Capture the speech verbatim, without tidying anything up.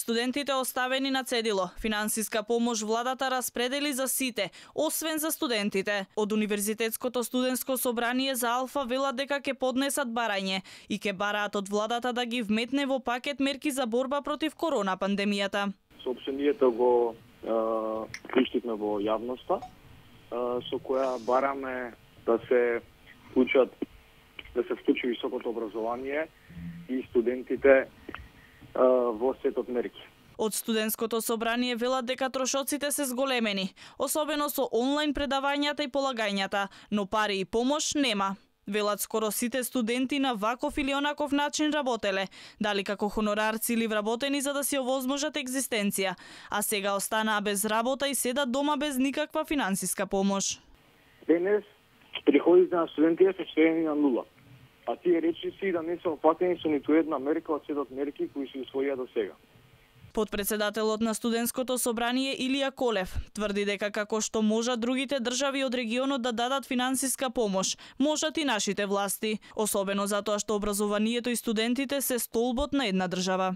Студентите оставени на цедило. Финансиска помош владата распредели за сите, освен за студентите. Од Универзитетското студентско собрание за Алфа велат дека ќе поднесат барање и ќе бараат од владата да ги вметне во пакет мерки за борба против корона пандемијата. Соопштението го пуштивме во јавноста, со која бараме да се вклучат, да се вклучи високото образование и студентите во сетот мерки. Од студентското собрание велат дека трошоците се зголемени, особено со онлайн предавањата и полагањата, но пари и помош нема. Велат скоро сите студенти на ваков или онаков начин работеле, дали како хонорарци или вработени за да си овозможат екзистенција, а сега останаа без работа и седат дома без никаква финансиска помош. Денес приходите на студентите се сведени на нула, а тие речиси да не се опатени со ниту една мерка од сетот мерки кои се усвоија до сега. Подпредседателот на студентското собрание Илија Колев тврди дека како што можат другите држави од регионот да дадат финансиска помош, можат и нашите власти, особено затоа што образованието и студентите се столбот на една држава.